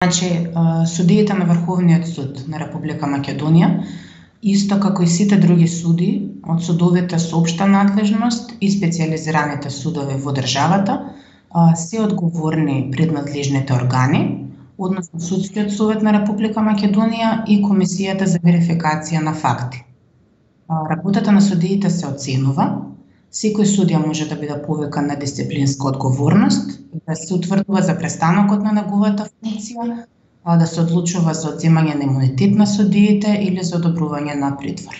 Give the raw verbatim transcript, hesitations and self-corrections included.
Значи, судиите на Врховниот суд на Република Македонија, исто како и сите други суди од судовите со општа надлежност и специјализираните судови во државата, се одговорни пред надлежните органи, односно Судскиот совет на Република Македонија и Комисијата за верификација на факти. Работата на судиите се оценува. Секој судија може да биде повикан на дисциплинска одговорност, да се утврдува за престанокот на неговата функција, да се одлучува за одземање на имунитет на судиите или за одобрување на притвор.